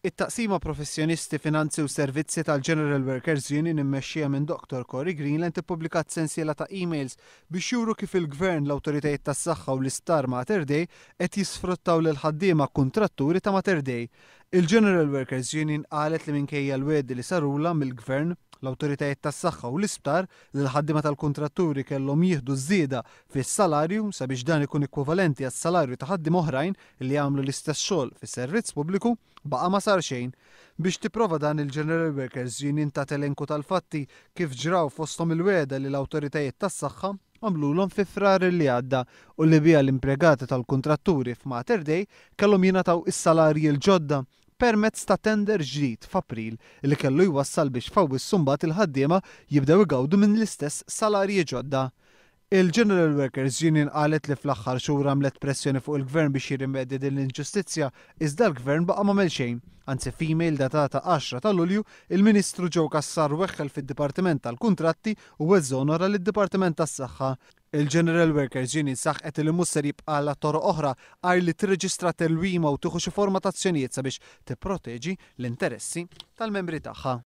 It-Taqsima Professjonisti, Finanzi u Servizzi tal-General Workers Union immexxija minn Dottor Cory Greenland ippubblikat sensiela ta' emails biex juru kif il-Gvern, l-awtoritajiet tas-saħħa u l-Isptar Mater Dei qed jisfruttaw lill-ħaddiema kuntratturi ta' Mater Dei. Il-General Workers Union qalet li minkejja l-wegħdi li sarulha mill-Gvern, l-awtoritajiet tas-saħħa u l-isptar li l-ħaddiema tal-kuntratturi kellhom jieħdu żieda fis-salarju sabiex dan ikun ekwivalenti għas-salarju ta' ħaddiema oħrajn li jagħmlu l-istess xogħol fis-servizz pubbliku, baqa' ma sar xejn. Biex tipprova dan il-General Workers Union tat elenku tal-fatti kif ġraw fosthom il-wegħda li l-awtoritajiet tas-saħħa għamlulhom fi Frar li għadda u li biha l-impjegati tal-kuntratturi f'Mater Dei kellhom jingħataw is-salarji l-ġodda permezz ta' tender ġdid f'April li kellu jwassal biex f'Awwissu mbagħad il-ħaddiema jibdew igawdu minn l-istess salarji ġodda. Il-General Workers Union qalet li fl-aħħar xhur għamlet pressjoni fuq il-Gvern biex jirrimedja din l-inġustizzja, iżda l-Gvern baqa' m'għamel xejn. Anzi f'email datata 10 ta' Lulju, il-Ministru Joe Cassar weħħel fid-Dipartiment tal-Kuntratti u eżonora lid-Dipartiment tas-Saħħa. Il-General Workers Union saħqet li mhux ser jibqgħalha toroq oħra għajr li tirreġistra tilwima u tieħu xi forma ta' azzjonijiet sabiex tipproteġi l-interessi tal-membri tagħha.